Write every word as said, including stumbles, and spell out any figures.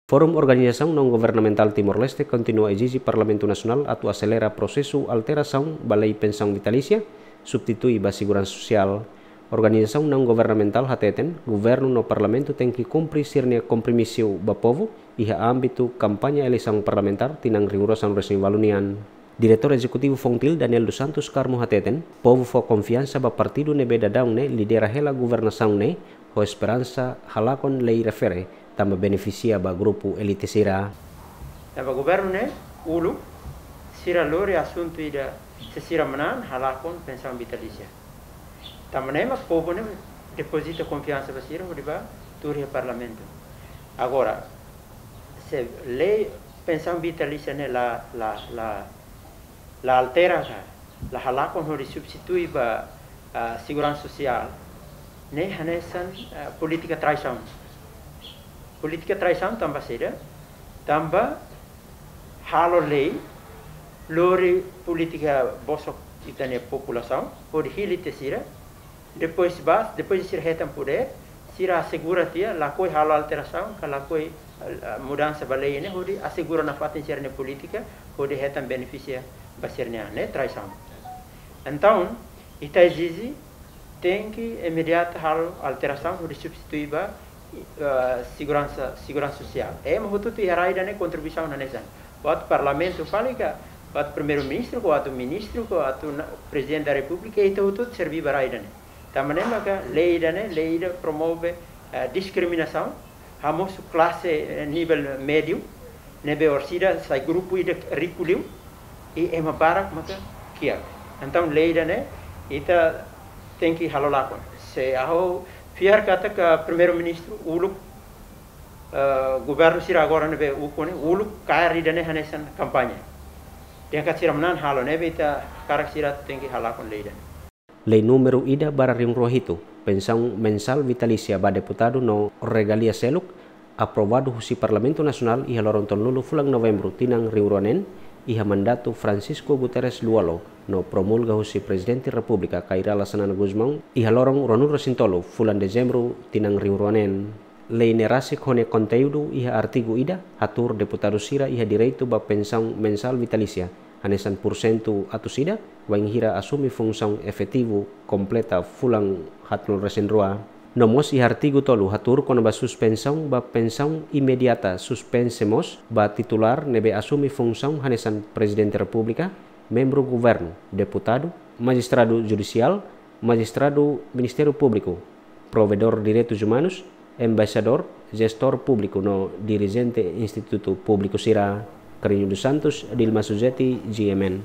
Forum Organizasaun Naun Governamentál Timor-Leste kontinua ezije Parlamentu Nasionál atu aselera prosesu alterasaun ba lei pensaun vitalísia, substitui ba seguransa sosiál. Organizasaun naun governamentál hateten, governu no parlamentu tenke kumpre sira-nia kompromisu ba povu iha ámbitu kampaña eleisaun parlamentár tinan rihun rua sanulu-resin-ualu nian. Diretór Ezekutivu Fontil, Daniel dos Santos Carmo hateten, povu fó konfiansa ba partidu ne'ebé daudaun ne'e lidera hela governasaun ne'e, ho esperansa halakon lei refere, tanba benefisia ba grupu elite sira. Tanba governu ne'e uluk, sira lori asuntu ida, se sira manán halakon pensaun vitalísia. Tanba ne'e mak povu ne'e depozita konfiansa ba sira hodi bá tuur iha parlamentu. Agora, se lei pensaun vitalísia ne'e la, la, la, la altera ka, la halakon hodi substitui ba, ah, seguransa sosiál, ne'e hanesan, ah, polítika traisaun. Polítika traisaun tanba saida? Tanba halo lei, lori polítika bosok ita-nia populasaun, hodi hili tiha sira, depois bá, depois sira hetan podér, sira asegura tiha, lakohi halo alterasaun, ka lakohi, ah, mudansa ba lei ne'e, hodi asegura nafatin sira-nia polítika, hodi hetan benefísiu ba sira-nia an, ne'e traisaun. Entaun, ita ezije, tenke imediata halo alterasaun, hodi substitui ba, ah, seguransa, seguransa sosiál. Ema hotu-hotu iha rai ida-ne'e kontribuisaun hanesan. Buat parlamentu fali ka, buat primeiru-ministru, ka buat ministru, ka buat na-, prezidente da repúblika, ita hotu-hotu serví ba rai ida-ne'e. Tanba ne'e maka lei ida-ne'e, lei ida promove, eh, diskriminasaun, hamosu klase, eh, nivel médiu, ne'ebé orsida sai grupu ida riku liu, i ema barak maka kiak. Entaun lei ida-ne'e, ita tenke halo lakon. Se ha'u fiar katak primeiru-ministru uluk, eh, governu sira agora ne'ebé ukun ne'e, uluk kaer ida-ne'e hanesan kampaña. Dehan katak sira manán halo, ne'ebé ita hakarak sira tenke halakon lei ida-ne'e. Lei númeru ida barra rihun rua hitu, pensaun mensál vitalísia ba deputadu no regalia seluk, aprovadu husi Parlamentu Nasionál iha loron tolunulu fulan Novembru tinan rihun rua neen, iha mandatu Francisco Guterres Lú-Olo, no promulga husi Prezidente Repúblika Kay Rala Xanana Gusmão, iha loron ruanulu-resin-tolu fulan Dezembru tinan rihun rua neen. Lei ne'e rasik ho nia konteúdu iha artigu ida, hatuur deputadu sira iha direitu ba pensaun mensál vitalísia, hanesan pursentu atus ida, wainhira asume funsaun efetivu kompleta fulan haatnulu-resin-rua. No mós iha artigu tolu hatuur kona-ba suspensaun ba pensaun imediata, suspense mós ba titulár ne'ebé asume funsaun hanesan Prezidente Repúblika, membru governu, deputadu, majistradu judisiál, majistradu Ministériu Públiku, provedór direitus umanus, embaixadór, jestór públiku no dirijente institutu públiku sira. Carlinho dos Santos, Dilma Suzeti, G M N.